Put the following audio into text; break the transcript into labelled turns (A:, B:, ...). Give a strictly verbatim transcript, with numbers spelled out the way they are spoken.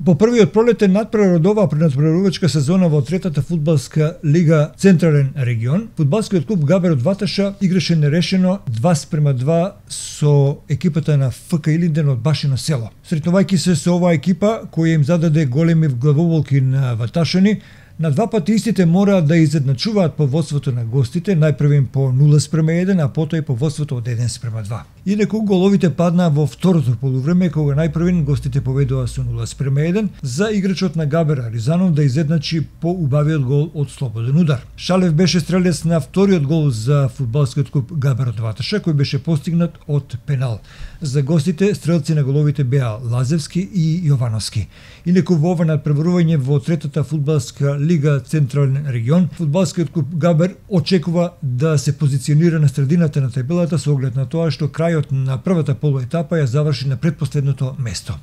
A: По првиот пролетен надпревар од оваа пренадпреварувачка сезона во третата фудбалска лига Централен регион, фудбалскиот клуб Габер од Ваташа играше нерешено два спрема два со екипата на ФК Илинден од Башино село. Сретнувајќи се со оваа екипа која им зададе големи главоболки на ваташани, на два пати истите мораат да изедначуваат по водството на гостите, најпрво им по нула спрема еден, а потоа и по водството од еден спрема два. Инаку головите паднаа во второто полувреме, кога најпрвен гостите поведоа со нула спрема еден за играчот на Габер Аризанов да изедначи по убавиот гол од слободен удар. Шалев беше стрелец на вториот гол за фудбалскиот клуб Габер од Ваташа, кој беше постигнат од пенал. За гостите стрелци на головите беа Лазевски и Јовановски. Инаку во ова надпреварување во третата фудбалска лига Централен регион, фудбалскиот клуб Габер очекува да се позиционира на средината на табелата со оглед на тоа што крајот на првата полуетапа ја заврши на претпоследното место.